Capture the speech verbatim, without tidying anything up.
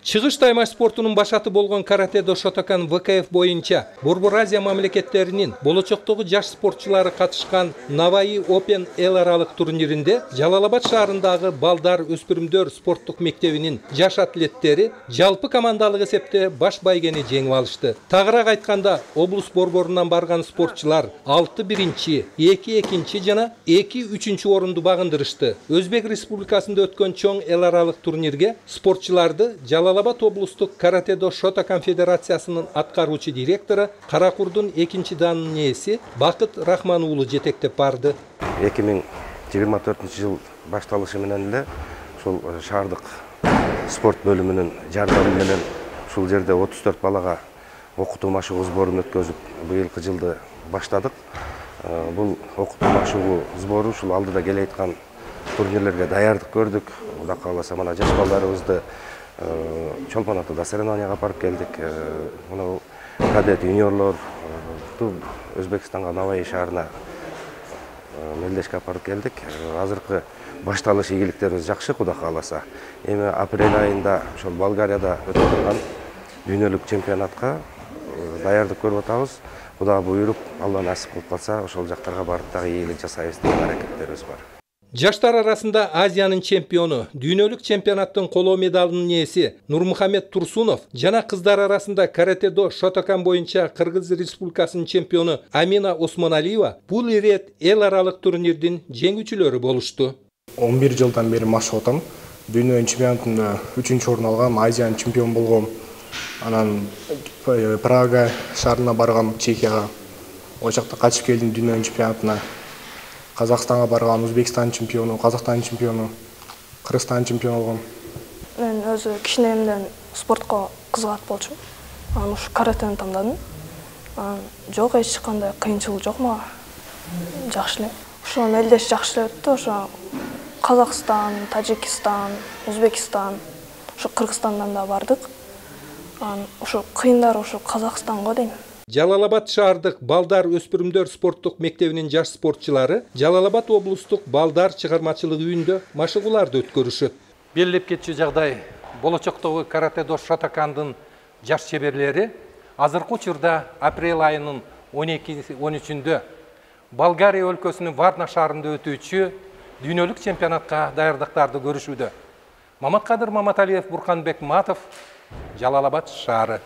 Чыгыш таймаш спортунун башаты болгон каратэ-до Шотокан вэ ка эф боюнча Борбор Азия мамлекеттеринин болочоктогу жаш спортчулары катышкан Наваи Open эл аралык турниринде Жалал-Абад шаарындагы балдар өспүрүмдөр спорттук мектебинин жаш атлеттери жалпы командалык эсепте баш байгени жеңип алышты. Тагыраак айтканда, облус борборунан барган спортчулар алты биринчи, эки экинчи жана эки үчүнчү орунду багындырышты. Өзбек Республикасында өткөн чоң эл аралык турнирге спортчуларды Жалал-Абад облустук каратэ-до Шотокан федерациясынын аткаруучу директору Каракурдун экинчи данынын ээси Бакыт Рахман уулу жетектеп барды. эки миң жыйырма төртүнчү жыл башталышы менен эле ушул шаардык спорт бөлүмүнүн жардамы менен ушул жерде отуз төрт балага окутуу машыгуу сборун өткөзүп, быйылкы жылды баштадык. Бул окутуу машыгуу сбору ушул алдыда келе айткан турнирлерге даярдык көрдүк. Кудай кааласа, мына жаш балдарыбызды Чолпон атада соревнованияга барып келдик. Мына кадет юниорлор Өзбекстанга Наваи шаарына мелдешке алып барып келдик. Азыркы башталыш ийгиликтерибиз жакшы, Кудай кааласа. Эми апрель айында ошол Болгарияда өтүп турган дүйнөлүк чемпионатка даярдык көрүп атабыз. Кудай буйруп, Алла насип кылып калса, ошол жактарга барып дагы ийгилик жасайбыз деген аракеттерибиз бар. Жаштар арасында Азиянын чемпиону, дүйнөлүк чемпионаттын коло медалынын ээси Нурмухамед Турсунов жана кыздар арасында каратэ-до Шотокан боюнча Кыргыз Республикасынын чемпиону Амина Осмоналиева бул ирет эл аралык турнирдин жеңүүчүлөрү болушту. он бир жылдан бери машык атам. Дүйнө чемпионатында үчүнчү орун алгам, Азиянын чемпион болгом. Анан Прага шаарына баргам, Чехияга. О жакта катышып келдим дүйнө чемпионатына. Казакстанга барган, Өзбекстан чемпиону, Казакстан чемпиону, Кыргызстан чемпиону болгом. Мен өзү кичинемден спортко кызыгат болчумун. Анан ушу каратени тандадым. Анан жок, эч кандай кыйынчылык жок мага. Жакшы эле. Ошо мелдеш жакшы эле өттү. Ошо Казакстан, Тажикстан, Өзбекстан, ошо Кыргызстандан да бардык. Анан ошо кыйындары ошо Казакстанга дейм. Жалал-Абад шаардык балдар өспүрүмдөр спорттук мектебинин жаш спортчулары Жалал-Абад облустук балдар чыгармачылык үйүндө машыгууларды өткөрүшөт. Белгилеп кетчү жагдай, болочоктогу каратэ-до Шотокандын жаш чеберлери азыркы учурда апрель айынын он экинчи он үчүндө Болгария өлкөсүнүн Варна шаарында өтүүчү дүйнөлүк чемпионатка даярдыктарды көрүшүүдө. Маматкадыр Маматалиев, Бурканбек Матов, Жалал-Абад шаары.